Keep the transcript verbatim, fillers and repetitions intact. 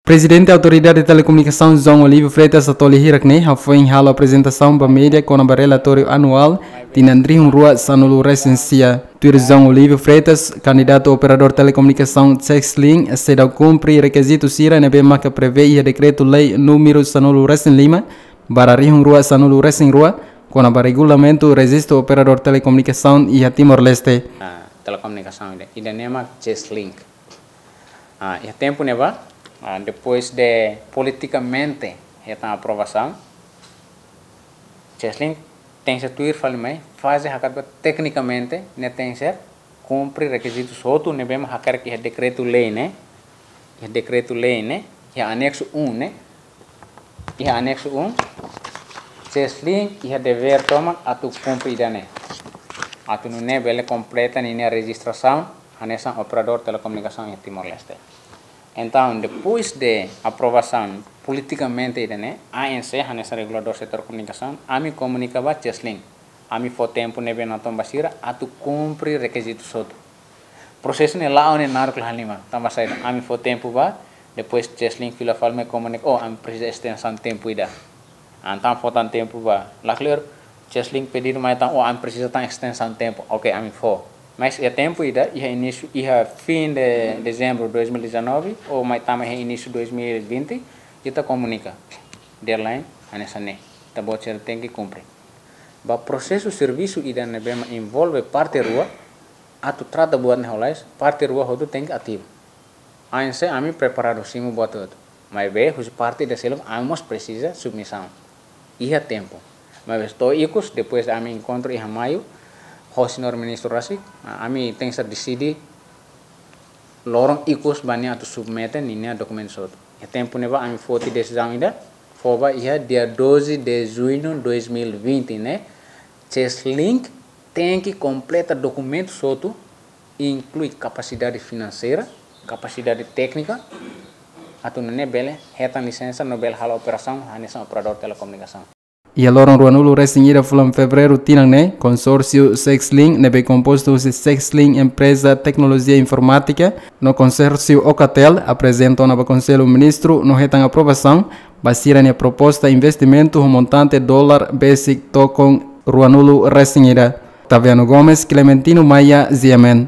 Prezidente Autoridade Telekomunikasaun João Olívio Freitas Atoli hirak ne'e hafoin halo aprezentasaun ba média kona-ba relatóriu anuál tinan rihun rua sanulu resin sia. Tuir João Olívio Freitas, kandidatu operadór telekomunikasaun Cesling seidauk kumpre rekizitu sira ne'ebé maka prevee iha dekretu-lei númeru sanulu resin lima barra rihun rua sanulu resin rua, kona-ba regulamentu rejistu operadór telekomunikasaun iha Timor-Leste. Ah, telekomunikasaun ida, ida ne'e mak Cesling. Ah, iha tempu ne'ebá, ah, depois de politikamente hetan aprovasaun, Cesling tenke tuir fali mai, faze hakat ba teknikamente, ne'e tenke kumpre rekizitu hotu ne'ebé mak hakarak iha dekretu-lei ne'e, iha dekretu-lei ne'e, iha anexu um ne'e, iha anexu um, Cesling iha devér tomak atu kumpre ida-ne'e. Atu nune'e bele kompleta ninia rejistrasaun hanesan operadór telekomunikasaun iha Timor-Leste. Entaun, depois de aprovasaun politikamente ida-ne'e, A N C, hanesan reguladór setór komunikasaun, ami komunika ba Cesling. Ami fó tempu ne'ebé natoon ba sira atu kumpre rekizitu hotu. Prosesu ne'e la'o ne'e naruk la halimar. Tanba saida, ami fó tempu ba, depois Cesling fila fali mai komunika, oh, ami presiza estensaun tempu ida. Entaun fó tan tempu ba. Lakleur, Cesling pedidu mai tan, oh, ami presiza tan estensaun tempu. Oke, ami fó. Mas iha tempu ida, iha inísiu, iha fim de dezembro dois mil e dezanove, ou mai tama iha inísiu dois mil e vinte, ita komunika. Deadline, hanesan ne'e. Ita-boot sira tenke kumpre. Ba prosesu servisu ida ne'ebé mak envolve parte rua, atu trata buat ne'e ho lalais, parte rua hotu tenke ativu. A N C ami preparadu simu buat hotu. Maibé, husi parte ida seluk, ami mós presiza submisaun. Iha tempu. Maibé, to'o ikus, depois de ami enkontru iha maiu, ho señór ministru rasik, ami tenke deside loron ikus ba nia atu submete ninia dokumentu hotu. Iha tempu ne'ebá ami foti desizaun ida, fó ba iha dia doze de junho dois mil e vinte ne'e, Cesling tenke kompleta dokumentu hotu, inklui kapasidade finanseira, kapasidade téknika, atu nune'e bele hetan lisensa no bele halo operasaun hanesan operadór telekomunikasaun. Iha loron ruanulu resin ida fulan Fevereiru tinan ne'e, konsórsiu Cesling ne'ebé kompostu husi Cesling Empreza Teknolojia Informátika no konsórsiu Ocatel aprezenta ona ba Konsellu Ministru no hetan aprovasaun ba sira-nia proposta investimentu ho montante dolar besik tokon ruanulu resin ida. Taviano Gomes, Clementino Maia, G M N.